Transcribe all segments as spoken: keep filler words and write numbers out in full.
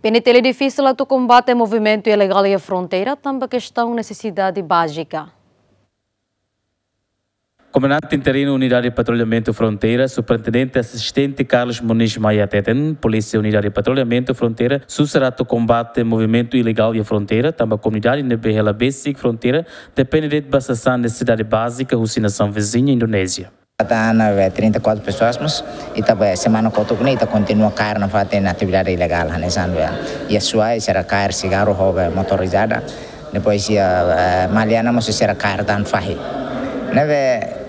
P N T L difisil atu kombate movimentu ilegál iha fronteira, tanba kestaun nesesidade bázika. Komandante Interinu Unidade Patrullamentu Fronteira, Superintendente Asistente Carlos Moniz Maia hateten, Polísia Unidade Patrullamentu Fronteira susar atu kombate movimentu ilegál iha fronteira, tanba komunidade ne'ebé hela besik fronteira depende de'it ba sasán nesesidade bázika husi nasaun viziña Indonézia. Ita iha ne'ebé trinta e quatro pessoas, mas ita ba semana kotuk ne'e ita kontinua kaer nafatin atividade ilegál hanesan be iha Suai sira kaer sigarru ho be motorizada. Depois iha, eh, Maliana mós sira kaer tan fahi. Ne'ebé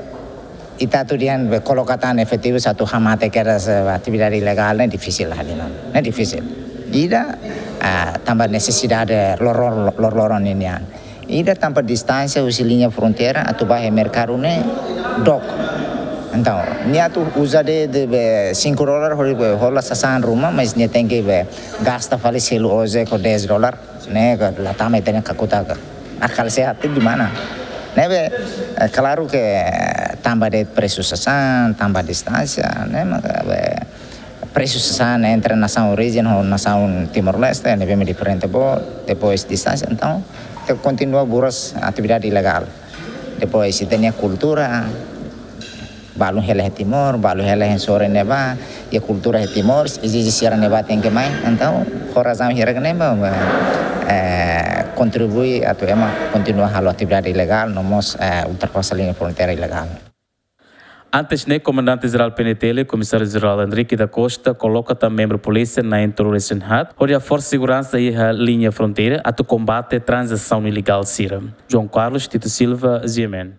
ita atu dehan be koloka tan efetivu atu hamate kedas, eh, atividade ilegál ne'e difisil hali non. Ne'e difisil. Ida, ah, tanba nesesidade loroloron, loroloron ninian. Ida tanba distánsia husi liña fronteira atu ba iha merkadu ne'e dook. Entaun, nia atu uza de'it be cinco dólar hodi be hola sasán ruma, mas nia tenke be gasta fali selu ojek ho dez dólar, ne'e ka la tama ita-nia kakutak. Akal sehat itu di mana? Ne'ebé, eh, klaru ke, eh, tanba de'it presu sasán, tanba distánsia, ne'e maka be presu sasán entre nasaun orijin ho nasaun Timor-Leste, ne'ebé mak diferente boot, depois distánsia, entaun, ita kontinua buras atividade ilegál. Depois, ita-nia kultura, balu hela iha Timor, balu hela iha sorin ne'ebá, iha kultura iha Timor, ezije sira ne'ebá tenke mai, entaun, ho razaun hirak ne'ebá, eh, kontribui atu ema kontinua halo atividade ilegál, no mós, eh, ultrapasa liña fronteira ilegál. Antes ne'e, Komandante Jerál P N T L, Komisáriu Jerál Henrique da Costa, koloka tan membru polísia na'in-tolu resin haat, hodi haforsa seguransa iha liña fronteira, atu kombate tranzasaun ilegál sira. João Carlos Tito Silva, G M N.